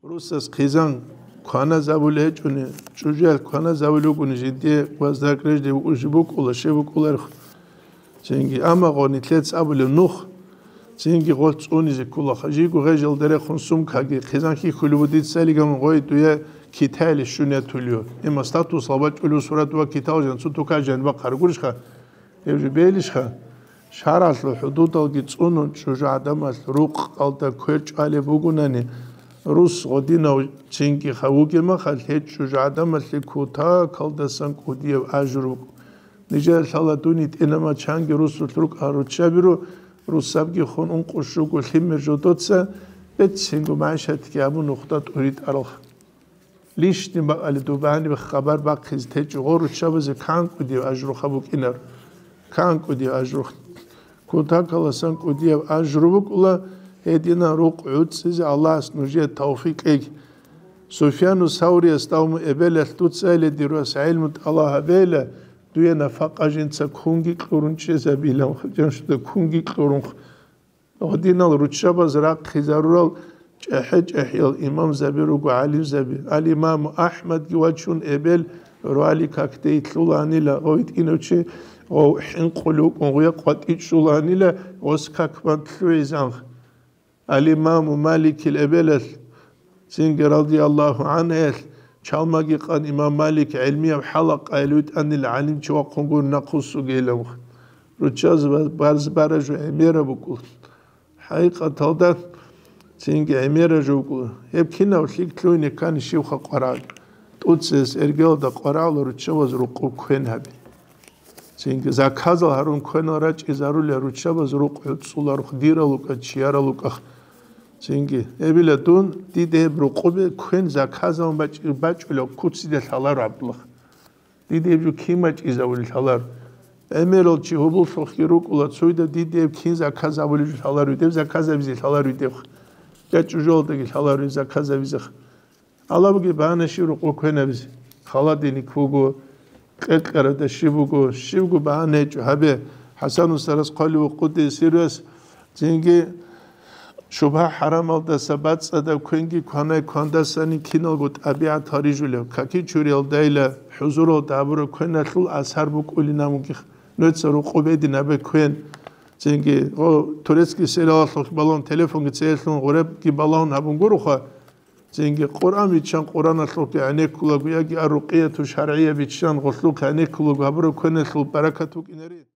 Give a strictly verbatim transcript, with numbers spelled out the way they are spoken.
Русас хъизан кваназабулеб гьечӀони, чӀужуялъ кваназабулеб бугони, жиндие воздакъ режде букӀулищ букӀула, щиб букӀуларихъ. Цинги, амма гъо нилъеца абулеб нух, цинги гъолъ цӀунизе ккола. Жиго гъежалда рехун сумкаги, хъизан хьихьулеб буго дица лигамун гъой дуе Китаялде щун ятулев. Има статусал бачӀулев сурат ва Китал жан цо тукай жан бахъаргурищха? Гьеб жо белищха? ШаргӀалъул хӀудудалги цӀунун чӀужугӀадамалъ рукъалда квер чӀвалеб бугунани, рус гъодинав цинги ха вугеб махалъ, гьеб чӀужугӀадамалъе кутакалдасан кӀудияб ажру букӀун. Нижер лъала дун йитӀинамал чанги русулъ рукӀа руччабиру, русабги хун ункъо-щуго лъимер жодоца, бецинго магӀишатги абун нухда тӀуритӀаралха. Лишни бакӀалде дубаниб хабар бахъизе течӀо гъо руччабазе кан кӀудияб ажруха букӀинар. Кан кӀудияб ажрух. Кутакаласан кӀудияб ажру букӀула, гьединан рукъ гӀуцӀизе Аллагьас нужее тавфикъ кьеги. Суфьяну Саврияс давму эбелалъ дуцайиле дир вас гӀилму тӀалаб гьабейила, дуе нафакъа жинца кунги кьурун чӀезабилан, жаншуда кунги кьурун. Гьединал руччабаз рахъизарурал чӀехӀе-чӀехӀиял имамзаби руго, гӀалимзаби. Ал-Имаму АхӀмадги вачун эбел рвали какде итлъуланила, гъов итӀинав чи гъов хӀинкъулев вукӀун гъуя къватӀичӀчӀуланила, гъос как бан лъугӀизанх. Ал-Имаму Маликил эбелалъ цинги радияллагьу гӀанхӀуялъ чалмаги къан имам Малик гӀелмияб хӀалакъаялъ витӀанила гӀалимчи вахъун гур нахъвуссугейилан. Руччабаз барз бараб жо гӀемераб букӀул. ХӀакъикъаталда цинги гӀемераб жо букӀул. Гьеб кинав лъикӀ лъугьине ккани щивха къварагӀ. ТӀуцеяс эргелда къварагӀула руччабаз рукъуб квен гьаби. Цинги заказал гьарун квенал рачӀизарулел руччабаз рукъ гӀуцӀуларухъ дирал рукӀа, чиярал рукӀах. Цинги, эбила дун, дида гьеб рукъубе квен заказал бачӀи-, бачӀулеб куциде лъаларо гьабдулах. Дида гьеб жо кин бачӀизабулел лъаларо. ГӀемерал чи гьоболлъухъги рукӀула, цойда дида гьеб кин заказабулел жо лъаларо, гьеб заказабизе лъаларо гьеб. Я чӀужуялдаги лъаларо гьеб заказабизеха. Гьалабги багьана щиб рукъу квенабизе. Холодильник буго, кьекьарада щиб буго, щибго багьана гьечӀо гьабе. ХӀасан устарас хъвалев вукъуде сирвас, цинги шубгьа-хӀарамалдаса бацӀцӀадаб квенги кванай квандасани киналго тӀабигӀат гьарижулев, каки чуриялдайила хӀузуралда гьабураб квеналъул асар букӀулин абунгех, нуца рукъу бедин гьабе квен. Цинги, о, турецкий сериалалъухъ балагьун, телефонги цеялъун гъуребги балагьун гьабун гуроха, Цинги Къуръан биччан Къуръаналъухъе гӀенеккулаго яги ар-рукъияту шаргӀия биччан гъолъухъе гӀенеккулаго гьабураб квеналъул баракат букӀинаре.